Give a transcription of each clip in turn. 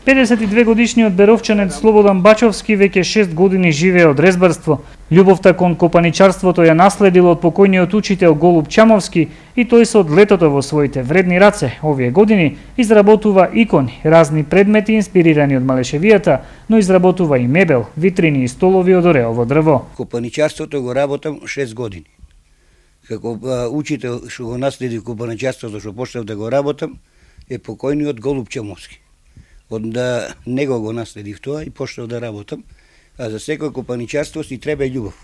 52 годишниот беровчанец Слободан Бачовски веќе 6 години живее од резбарство. Љубовта кон копаничарството ја наследил од покојниот учител Голуб Чамовски и тој се од летото во своите вредни раце овие години изработува икони, разни предмети инспирирани од малешевијата, но изработува и мебел, витрини и столови од ореово дрво. Копаничарството го работам 6 години. Како учител што го наследи копаничарството што почнав да го работам е покојниот Голуб Чамовски. Од него го наследив тоа и почнав да работам. А за секој копаничарство си треба љубов.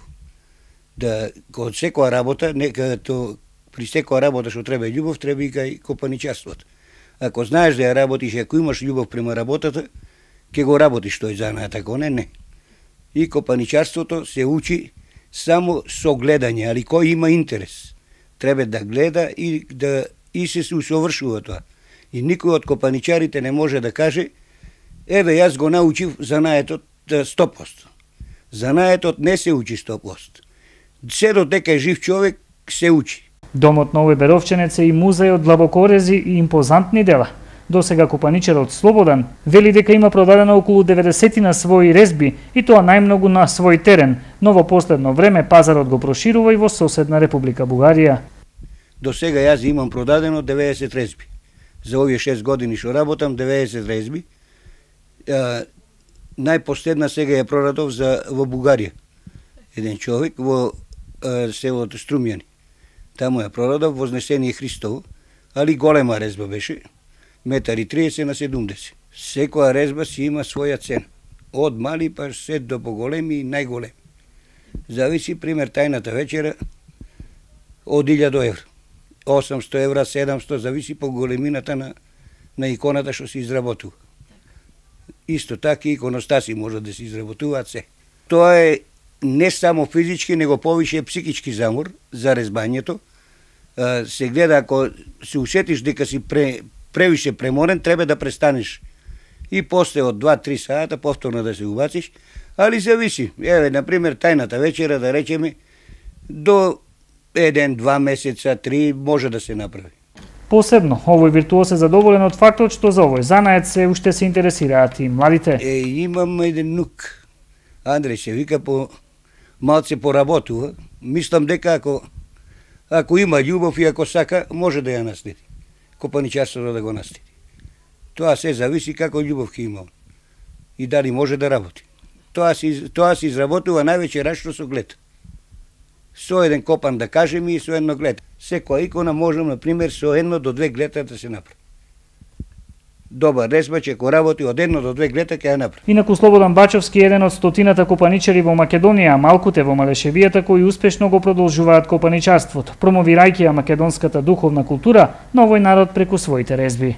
Да од секоја работа, при секоја работа што треба љубов, треба и кај копаничарството. Ако знаеш да ја работиш, ако имаш љубов према работата, ќе го работиш тој занаат, ако не. И копаничарството се учи само со гледање, али кој има интерес, треба да гледа и се усовршува тоа. И никој од копаничарите не може да каже, еве јас го научив занаетот 100%. Занаетот не се учи 100%. Се додека е жив човек, се учи. Домот на овој беровчанец е и музеј од длабокорези и импозантни дела. Досега копаничарот Слободан вели дека има продадено околу 90 на своји резби и тоа најмногу на свој терен, но во последно време пазарот го проширува и во соседна Република Бугарија. До сега јас имам продадено 90 резби. За овие 6 години што работам, 90 резби. Најпоследна сега ја продадов во Бугарија. Еден човек во селото Струмјани. Таму ја продадов Вознесение Христово, али голема резба беше, 1,30 на 70. Секоја резба си има своја цена. Од мали па се до поголеми и најголеми. Зависи, пример, тајната вечера од 1000 евра. 800 евра, 700, зависи по големината на иконата што се изработува. Исто така и иконостаси може да се изработуваат се. Тоа е не само физички, него повише психички замор за резбањето. Се гледа, ако се усетиш дека си превише преморен, треба да престанеш. И после од 2-3 сата повторно да се убациш, али зависи. Еве, например, тајната вечера, да речеме, до 1-2 месеца, 3 може да се направи. Посебно, овој виртуоз е задоволен од фактот што за овој занает се уште се интересираат и младите. Имам еден нук, Андреј се вика, малце поработува. Мислам дека ако има љубов и ако сака, може да ја наследи. Копаничарството да го наследи. Тоа се зависи како љубов ќе има и дали може да работи. Тоа се изработува највеќе рачно со глед. Со еден копан, да кажем, и со едно глед. Секоја икона може, например, со 1 до 2 глета да се направи. Добар резбач, ако работи од 1 до 2 глета, ќе ја направи. Инаку Слободан Бачовски е еден од стотината копаничари во Македонија, а малкуте во малешевијата кои успешно го продолжуваат копаничарството, промовирајќи ја македонската духовна култура на овој народ преку своите резби.